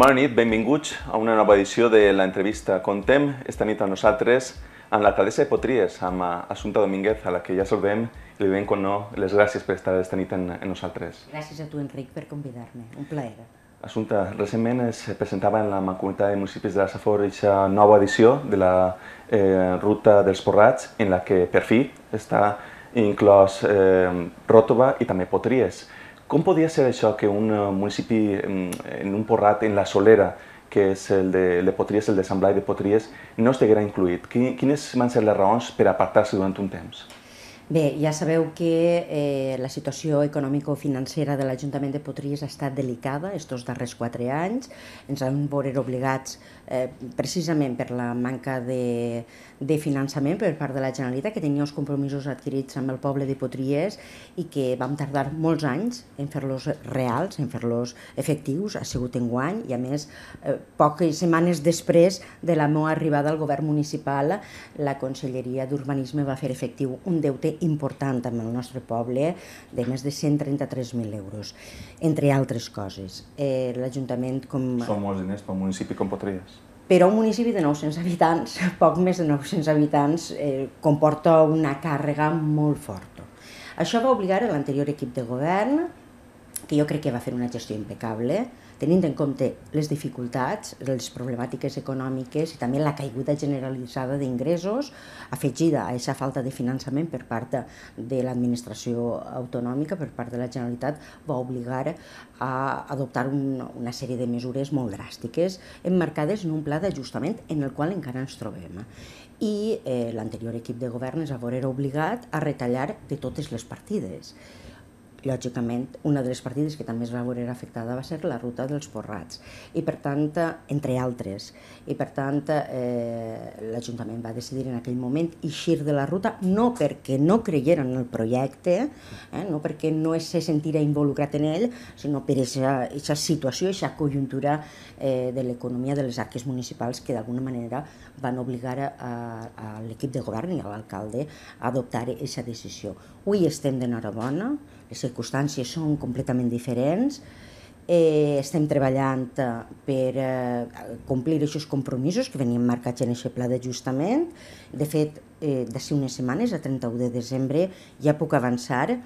Bona nit, benvinguts a una nova edició de l'entrevista Contem. Esta nit amb nosaltres, amb l'alcaldessa de Potries, amb Assumpta Domínguez, a la que ja saludem i li donem, com no, les gràcies per estar esta nit amb nosaltres. Gràcies a tu, Enric, per convidar-me. Un plaer. Assumpta, recentment es presentava en la Mancomunitat de Municipis de la Safor aquesta nova edició de la Ruta dels Porrats, en la que per fi està inclòs Ròtova i també Potries. Com podia ser això que un municipi en un porrat en la Solera, que és el de Potries, el de Sant Blai de Potries, no estiguera incluït? Quines van ser les raons per apartar-se durant un temps? Bé, ja sabeu que la situació econòmico-financera de l'Ajuntament de Potries ha estat delicada estos darrers 4 anys. Ens hem vist obligats, precisament per la manca de finançament per part de la Generalitat, que tenia els compromisos adquirits amb el poble de Potries i que vam tardar molts anys en fer-los reals, en fer-los efectius. Ha sigut enguany i, a més, poques setmanes després de la meva arribada al govern municipal, la Conselleria d'Urbanisme va fer efectiu un deute important amb el nostre poble de més de 133.000 euros, entre altres coses. L'Ajuntament... Són molts diners per un municipi com Potries. Per a un municipi de 900 habitants, poc més de 900 habitants, comporta una càrrega molt forta. Això va obligar l'anterior equip de govern, que jo crec que va fer una gestió impecable, tenint en compte les dificultats, les problemàtiques econòmiques i també la caiguda generalitzada d'ingressos, afegida a aquesta falta de finançament per part de l'administració autonòmica, per part de la Generalitat, va obligar a adoptar una sèrie de mesures molt dràstiques, emmarcades en un pla d'ajustament en el qual encara ens trobem. I l'anterior equip de govern es va veure obligat a retallar de totes les partides. Lògicament, una de les partides que també es va veure afectada va ser la Ruta dels Porrats, i per tant, entre altres, i per tant l'Ajuntament va decidir en aquell moment eixir de la ruta, no perquè no creieren en el projecte, no perquè no se sentira involucrat en ell, sinó per aquesta situació, aquesta conjuntura de l'economia de les arques municipals que d'alguna manera van obligar a l'equip de govern i a l'alcalde a adoptar aquesta decisió. Avui estem d'enhorabona, les circumstàncies són completament diferents, estem treballant per complir aquests compromisos que venien marcats en aquest pla d'ajustament. De fet, d'ací unes setmanes, a 31 de desembre, ja puc avançar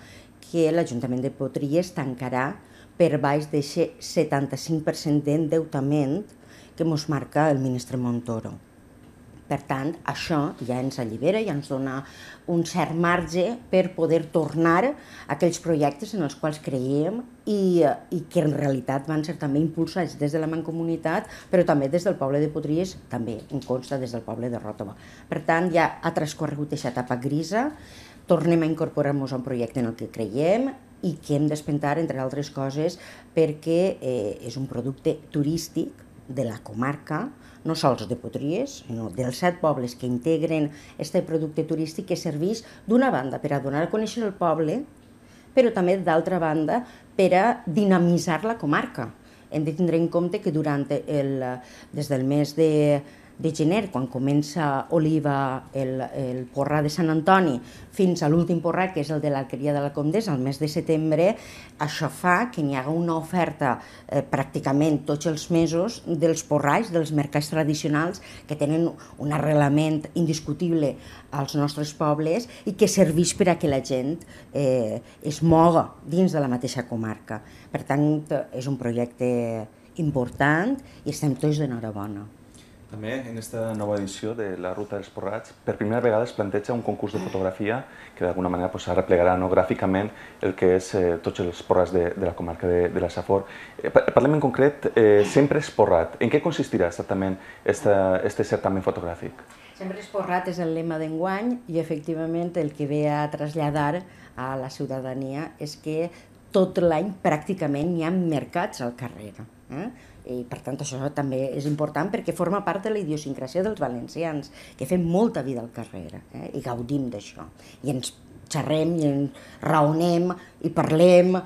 que l'Ajuntament de Potries tancarà per baix d'aquest 75% d'endeutament que ens marca el ministre Montoro. Per tant, això ja ens allibera, ja ens dona un cert marge per poder tornar a aquells projectes en els quals creiem i que en realitat van ser també impulsats des de la Mancomunitat, però també des del poble de Potries, també en consta des del poble de Ròtova. Per tant, ja ha transcorregut aquesta etapa grisa, tornem a incorporar-nos a un projecte en el que creiem i que hem d'espentar, entre altres coses, perquè és un producte turístic de la comarca, no sols de Potries, sinó dels 7 pobles que integren aquest producte turístic que serveix d'una banda per a donar a conèixer el poble, però també d'altra banda per a dinamitzar la comarca. Hem de tindre en compte que des del mes de gener, quan comença Oliva el porrà de Sant Antoni, fins a l'últim porrà, que és el de l'Alqueria de la Comtessa, al mes de setembre, això fa que n'hi haga una oferta pràcticament tots els mesos dels porralls, dels mercats tradicionals, que tenen un arrelament indiscutible als nostres pobles i que serveix per a que la gent es moga dins de la mateixa comarca. Per tant, és un projecte important i estem tots d'enhorabona. També en aquesta nova edició de la Ruta dels Porrats, per primera vegada es planteja un concurs de fotografia que d'alguna manera replegarà gràficament el que és tots els porrats de la comarca de la Safor. Parlem en concret, Sempre és porrat. En què consistirà exactament este certamen fotogràfic? Sempre és porrat és el lema d'enguany i efectivament el que ve a traslladar a la ciutadania és que tot l'any pràcticament hi ha mercats al carrer. I per tant això també és important perquè forma part de la idiosincràsia dels valencians, que fem molta vida al carrer i gaudim d'això. I ens xerrem i ens raonem i parlem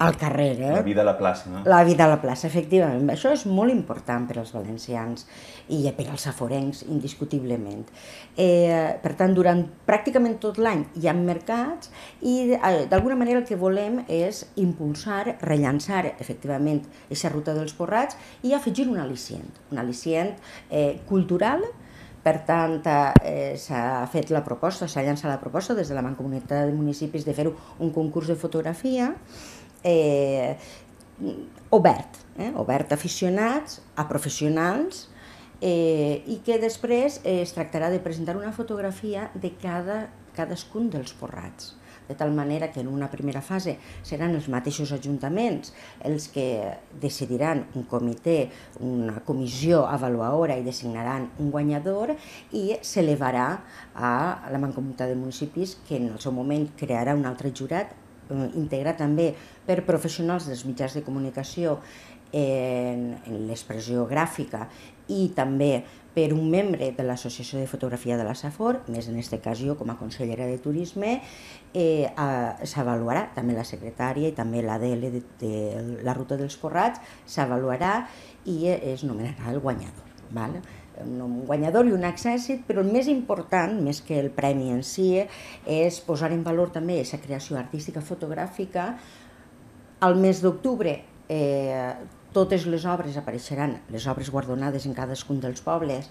al carrer. La vida a la plaça, no? La vida a la plaça, efectivament. Això és molt important per als valencians i per als saforencs, indiscutiblement. Per tant, durant pràcticament tot l'any hi ha mercats i d'alguna manera el que volem és impulsar, rellançar efectivament aquesta ruta dels porrats i afegir un al·licient cultural. Per tant, s'ha fet la proposta, s'ha llançat la proposta des de la Mancomunitat de Municipis de fer-ho un concurs de fotografia obert a aficionats, a professionals, i que després es tractarà de presentar una fotografia de cadascun dels porrats, de tal manera que en una primera fase seran els mateixos ajuntaments els que decidiran un comitè, una comissió avaluadora i designaran un guanyador i s'elevarà a la Mancomunitat de Municipis, que en el seu moment crearà un altre jurat integrat també per professionals dels mitjans de comunicació en l'expressió gràfica i també per un membre de l'Associació de Fotografia de la Safor, més en aquesta ocasió com a consellera de Turisme. S'avaluarà també la secretària i també l'ADL de la Ruta dels Porrats, s'avaluarà i es nomenarà el guanyador. Un guanyador i un accèssit, però el més important, més que el premi en si, és posar en valor també aquesta creació artística fotogràfica. Al mes d'octubre totes les obres apareixeran, les obres guardonades en cadascun dels pobles,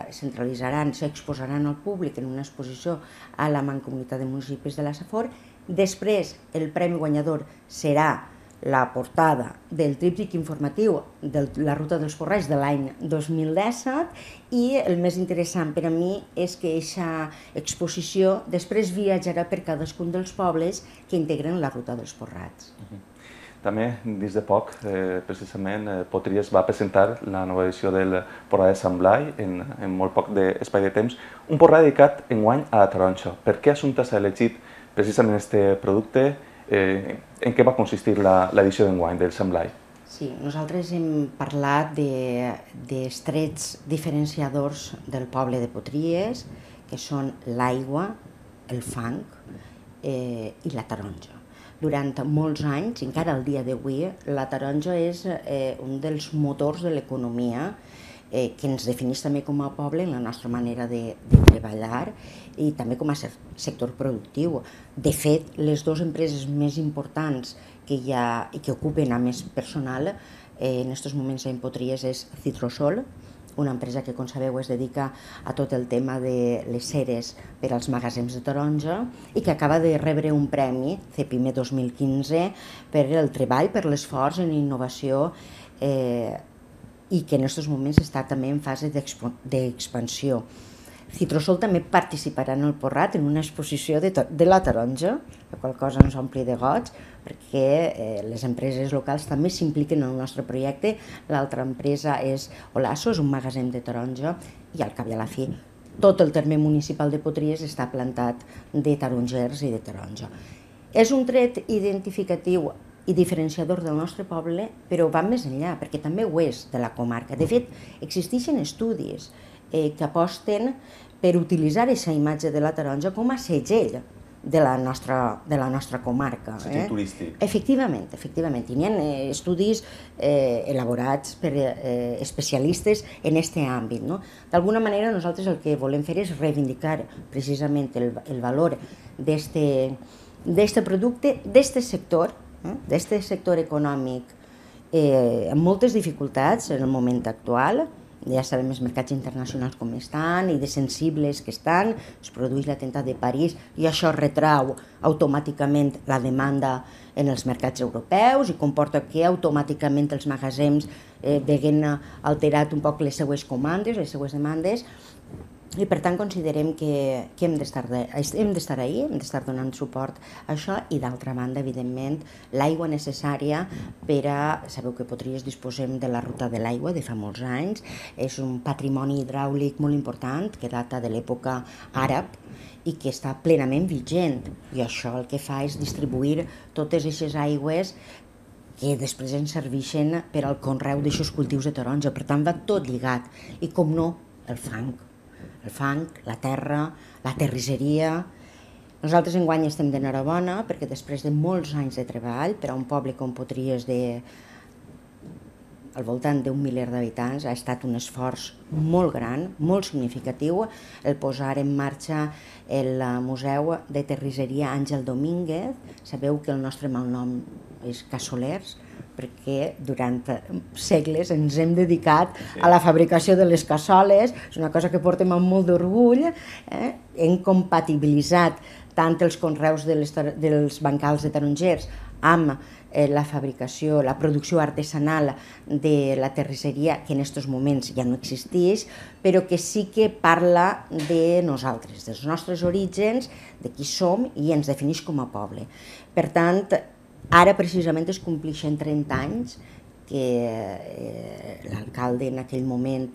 centralitzaran, s'exposaran al públic en una exposició a la Mancomunitat de Municipis de la Safor. Després, el premi guanyador serà la portada del tríptic informatiu de la Ruta dels Porrats de l'any 2017 i el més interessant per a mi és que aquesta exposició després viatjarà per cadascun dels pobles que integren la Ruta dels Porrats. També, dins de poc, precisament, Potries va presentar la nova edició del Porrà de Sant Blai en molt poc d'espai de temps, un porrà dedicat enguany a la taronja. Per què Assumpta s'ha elegit precisament aquest producte? En què va consistir l'edició d'enguany del Sant Blai? Sí, nosaltres hem parlat dels trets diferenciadors del poble de Potries, que són l'aigua, el fang i la taronja. Durant molts anys, encara al dia d'avui, la taronja és un dels motors de l'economia que ens defineix també com a poble en la nostra manera de treballar i també com a sector productiu. De fet, les dues empreses més importants que hi ha i que ocupen a més personal en aquests moments en Potries és Citrosol, una empresa que, com sabeu, es dedica a tot el tema de les ceres per als magatzems de taronja i que acaba de rebre un premi, CEPIME 2015, per el treball, per l'esforç en innovació i que en aquests moments està també en fase d'expansió. Citrosol també participarà en el Porrat en una exposició de la taronja, la qual cosa ens ompli de goig, perquè les empreses locals també s'impliquen en el nostre projecte. L'altra empresa és Olasso, és un magatzem de taronja, i al cap i a la fi tot el terme municipal de Potries està plantat de tarongers i de taronja. És un tret identificatiu i diferenciador del nostre poble, però va més enllà, perquè també ho és de la comarca. De fet, existeixen estudis que aposten per utilitzar aquesta imatge de la taronja com a segell de la nostra comarca. Segell turístic. Efectivament. I n'hi ha estudis elaborats per especialistes en aquest àmbit. D'alguna manera nosaltres el que volem fer és reivindicar precisament el valor d'aquest producte, d'aquest sector econòmic amb moltes dificultats en el moment actual. Ja sabem els mercats internacionals com estan i de sensibles que estan, es produeix l'atemptat de París i això retrau automàticament la demanda en els mercats europeus i comporta que automàticament els magatzems veguen alterat un poc les seues comandes, les seues demandes, i per tant considerem que hem d'estar ahí, hem d'estar donant suport a això i d'altra banda, evidentment, l'aigua necessària per a... Sabeu que Potries disposem de la ruta de l'aigua de fa molts anys, és un patrimoni hidràulic molt important que data de l'època àrab i que està plenament vigent i això el que fa és distribuir totes aquestes aigües que després ens serveixen per al conreu d'aixòs cultius de taronja, per tant va tot lligat i com no, el fang, la terra, la terrisseria Nosaltres enguany estem d'enhorabona perquè després de molts anys de treball per a un poble com Potries al voltant d'un miler d'habitants ha estat un esforç molt gran, molt significatiu el posar en marxa el Museu de Terrisseria Àngel Domínguez. Sabeu que el nostre malnom és Cassolers perquè durant segles ens hem dedicat a la fabricació de les cassoles, és una cosa que portem amb molt d'orgull, hem compatibilitzat tant els conreus dels bancals de tarongers amb la fabricació, la producció artesanal de la terrisseria, que en aquests moments ja no existeix, però que sí que parla de nosaltres, dels nostres orígens, de qui som i ens defineix com a poble. Per tant, ara precisament es compleixen 30 anys que l'alcalde en aquell moment,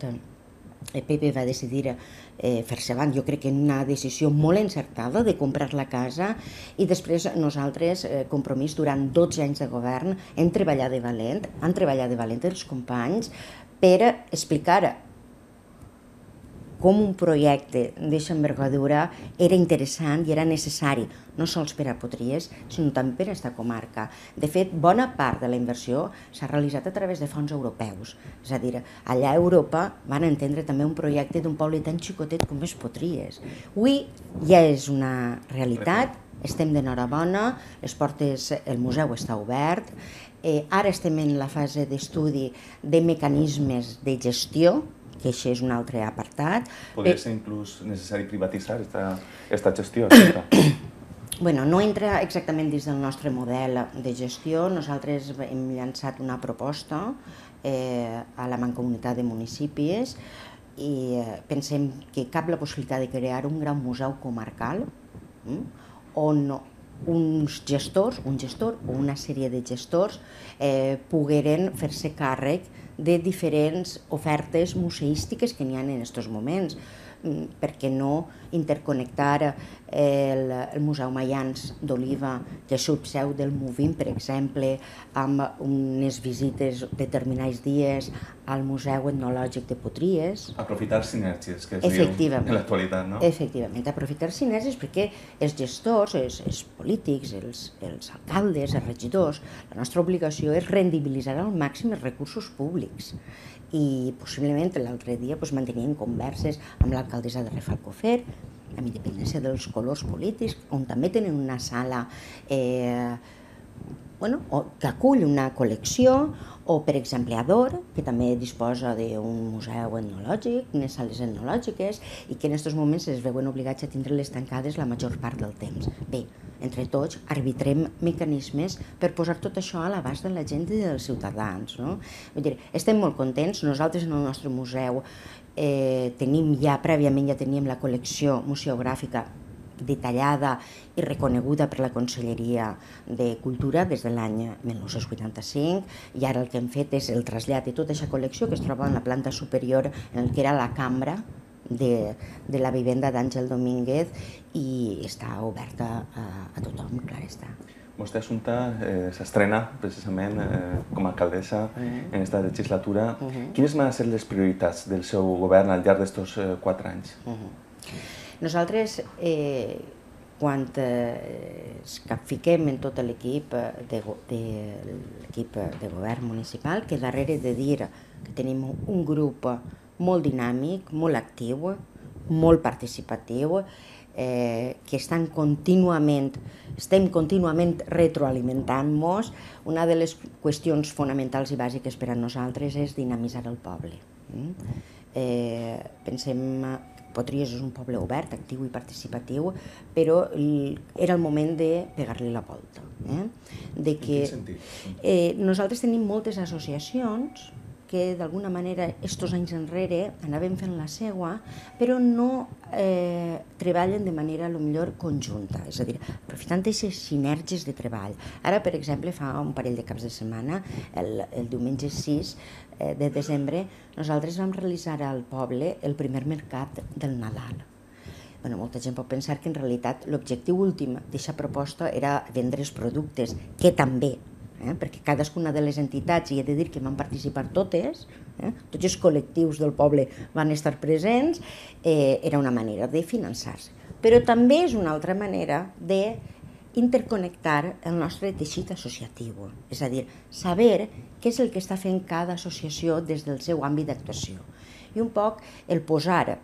Pepe, va decidir fer-se avant. Jo crec que una decisió molt encertada de comprar la casa i després nosaltres, Compromís, durant 12 anys de govern, hem treballat de valent, han treballat de valent els companys per explicar com un projecte d'aquesta envergadura era interessant i era necessari, no sols per a Potries, sinó també per a aquesta comarca. De fet, bona part de la inversió s'ha realitzat a través de fons europeus. És a dir, allà a Europa van entendre també un projecte d'un poble tan xicotet com és Potries. Avui ja és una realitat, estem d'enhorabona, el museu està obert, ara estem en la fase d'estudi de mecanismes de gestió, que això és un altre apartat. Podria ser inclús necessari privatitzar aquesta gestió? Bueno, no entra exactament dins del nostre model de gestió. Nosaltres hem llançat una proposta a la Mancomunitat de Municipis i pensem que cap la possibilitat de crear un gran museu comarcal on uns gestors, un gestor o una sèrie de gestors pogueren fer-se càrrec de diferents ofertes museístiques que n'hi ha en aquests moments. Per què no interconnectar el Museu Maians d'Oliva, que és subseu del Movim, per exemple, amb unes visites determinats dies al Museu Etnològic de Potries. Aprofitar sinergies, que es diu en l'actualitat, no? Efectivament, aprofitar sinergies perquè els gestors, els polítics, els alcaldes, els regidors, la nostra obligació és rendibilitzar al màxim els recursos públics. I possiblement l'altre dia manteníem converses amb l'alcaldessa de Rafelcofer, amb independència dels colors polítics, on també tenen una sala que acull una col·lecció, o per exemple Ador, que també disposa d'un museu etnològic, unes sales etnològiques, i que en aquests moments es veuen obligats a tindre-les tancades la major part del temps. Bé, entre tots arbitrem mecanismes per posar tot això a l'abast de la gent i dels ciutadans. Vull dir, estem molt contents. Nosaltres en el nostre museu prèviament ja teníem la col·lecció museogràfica detallada i reconeguda per la Conselleria de Cultura des de l'any 1985 i ara el que hem fet és el trasllat de tota aquesta col·lecció que es troba en la planta superior en el que era la cambra de la vivenda d'Àngel Domínguez i està oberta a tothom, clar està. Vostè, Assumpta, s'estrena precisament com a alcaldessa en aquesta legislatura. Quines van ser les prioritats del seu govern al llarg d'aquests 4 anys? Nosaltres, quan ens capfiquem en tot l'equip de govern municipal, que darrere de dir que tenim un grup molt dinàmic, molt actiu, molt participatiu, que estem contínuament retroalimentant-nos. Una de les qüestions fonamentals i bàsiques per a nosaltres és dinamitzar el poble. Pensem que Potries és un poble obert, actiu i participatiu, però era el moment de pegar-li la volta. En quin sentit? Nosaltres tenim moltes associacions que d'alguna manera estos anys enrere anaven fent la seua, però no treballen de manera potser conjunta, és a dir, aprofitant aquestes sinergies de treball. Ara, per exemple, fa un parell de caps de setmana, el diumenge 6 de desembre, nosaltres vam realitzar al poble el primer mercat del Nadal. Molta gent pot pensar que en realitat l'objectiu últim d'aquesta proposta era vendre els productes, que també, perquè cadascuna de les entitats, i he de dir que van participar totes, tots els col·lectius del poble van estar presents, era una manera de finançar-se. però també és una altra manera d'interconnectar el nostre teixit associatiu, és a dir, saber què és el que està fent cada associació des del seu àmbit d'actuació. I un poc el posar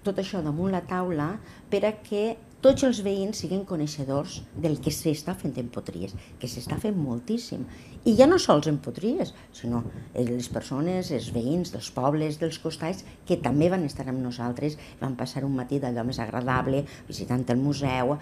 tot això damunt la taula per a que tots els veïns siguin coneixedors del que s'està fent en Potries, que s'està fent moltíssim. I ja no sols en Potries, sinó les persones, els veïns dels pobles, dels costats, que també van estar amb nosaltres, van passar un matí d'allò més agradable, visitant el museu,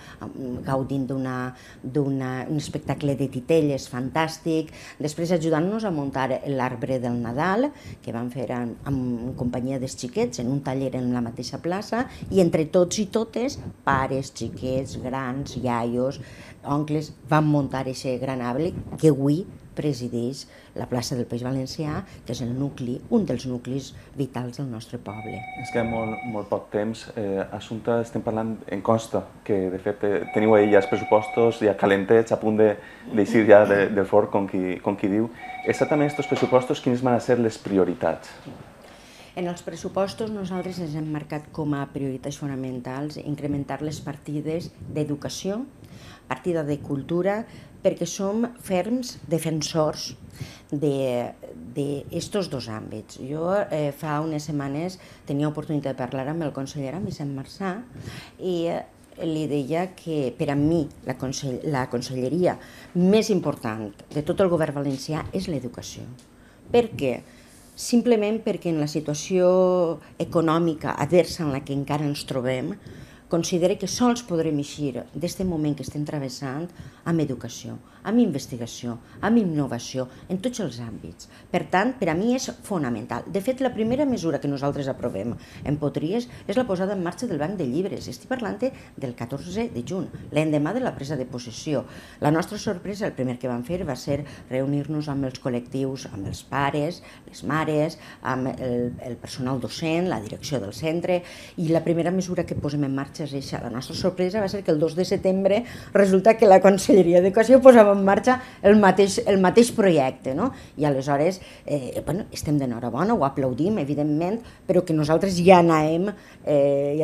gaudint d'un espectacle de titelles fantàstic, després ajudant-nos a muntar l'arbre del Nadal, que vam fer en companyia dels xiquets, en un taller en la mateixa plaça, i entre tots i totes, pares, xiquets, grans, iaios, oncles, van muntar aquest gran arbre que avui presideix la plaça del País Valencià, que és el nucli, un dels nuclis vitals del nostre poble. És que molt poc temps. Assumpta, estem parlant en Costa, que de fet teniu ahir ja els pressupostos ja calentets, a punt d'eixir ja del forn, com qui diu. Exactament aquests pressupostos, quines van ser les prioritats? En els pressupostos nosaltres ens hem marcat com a prioritats fonamentals incrementar les partides d'educació, partida de cultura, perquè som ferms defensors d'estos dos àmbits. Jo fa unes setmanes tenia oportunitat de parlar amb el conseller, amb Vicent Marçà, i li deia que per a mi la conselleria més important de tot el govern valencià és l'educació. Per què? Simplement perquè en la situació econòmica adversa en la que encara ens trobem, considera que sols podrem eixir d'aquest moment que estem travessant amb educació, amb investigació, amb innovació, en tots els àmbits. Per tant, per a mi és fonamental. De fet, la primera mesura que nosaltres aprovem en Potries és la posada en marxa del banc de llibres. Estic parlant del 14 de juny, l'endemà de la presa de possessió. La nostra sorpresa, el primer que vam fer, va ser reunir-nos amb els col·lectius, amb els pares, les mares, amb el personal docent, la direcció del centre, i la primera mesura que posem en marxa és això. La nostra sorpresa va ser que el 2 de setembre resulta que la Conselleria d'Educació posava en marxa el mateix projecte, no? I aleshores estem d'enhorabona, ho aplaudim, evidentment, però que nosaltres ja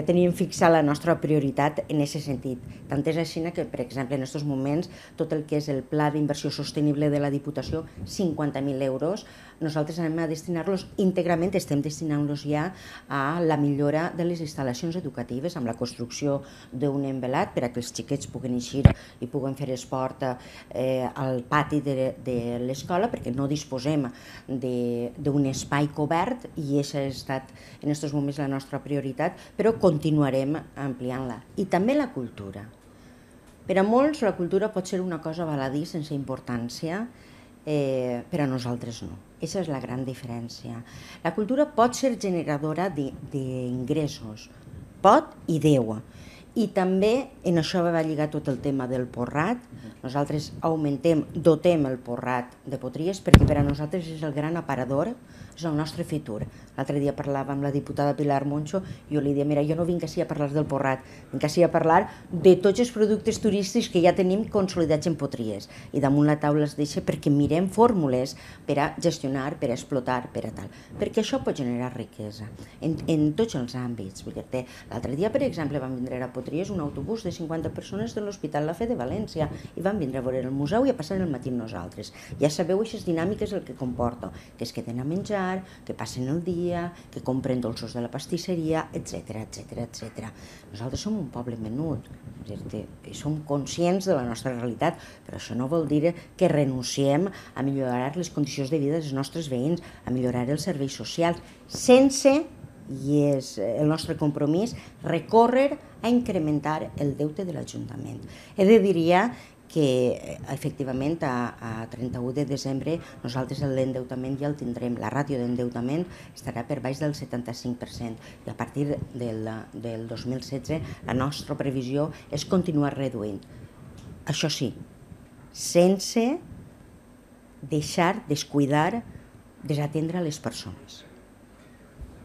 teníem fixat la nostra prioritat en aquest sentit. Tant és així que, per exemple, en aquests moments, tot el que és el Pla d'Inversió Sostenible de la Diputació, 50.000 euros, nosaltres anem a destinar-los íntegrament, estem destinant-los ja a la millora de les instal·lacions educatives, amb la construcció d'un envelat per a que els xiquets puguin eixir i puguen fer esport al pati de l'escola, perquè no disposem d'un espai cobert i aquesta ha estat en aquests moments la nostra prioritat, però continuarem ampliant-la. I també la cultura. Per a molts la cultura pot ser una cosa baladí sense importància, per a nosaltres no. Aquesta és la gran diferència. La cultura pot ser generadora d'ingressos, pot i deu. I també en això va lligar tot el tema del Porrat. Nosaltres dotem el Porrat de Potries perquè per a nosaltres és el gran aparador, és el nostre futur. L'altre dia parlava amb la diputada Pilar Moncho i jo li deia, mira, jo no vinc així a parlar del Porrat, vinc així a parlar de tots els productes turístics que ja tenim consolidats en Potries. I damunt la taula es deixa perquè mirem fórmules per a gestionar, per a explotar, per a tal. Perquè això pot generar riquesa en tots els àmbits. L'altre dia, per exemple, vam vindre a Potries un autobús de 50 persones de l'Hospital La Fe de València i van vindre a veure el museu i a passar el matí amb nosaltres. Ja sabeu aquestes dinàmiques el que comporta, que es queden a menjar, que passen el dia, que compren dolços de la pastisseria, etc. Nosaltres som un poble menut, som conscients de la nostra realitat, però això no vol dir que renunciem a millorar les condicions de vida dels nostres veïns, a millorar els serveis socials, sense, i és el nostre compromís, recórrer a incrementar el deute de l'Ajuntament. He de dir que efectivament a 31 de desembre nosaltres l'endeutament ja el tindrem, la ràtio d'endeutament estarà per baix del 75% i a partir del 2016 la nostra previsió és continuar reduint. Això sí, sense deixar, descuidar, desatendre les persones.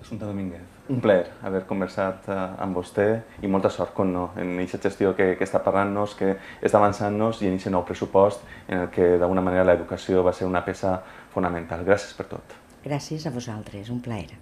Assumpta Domínguez, un plaer haver conversat amb vostè i molta sort en aquesta gestió que està parlant-nos, que està avançant-nos i en aquest nou pressupost en el que d'alguna manera l'educació va ser una peça fonamental. Gràcies per tot. Gràcies a vosaltres, un plaer.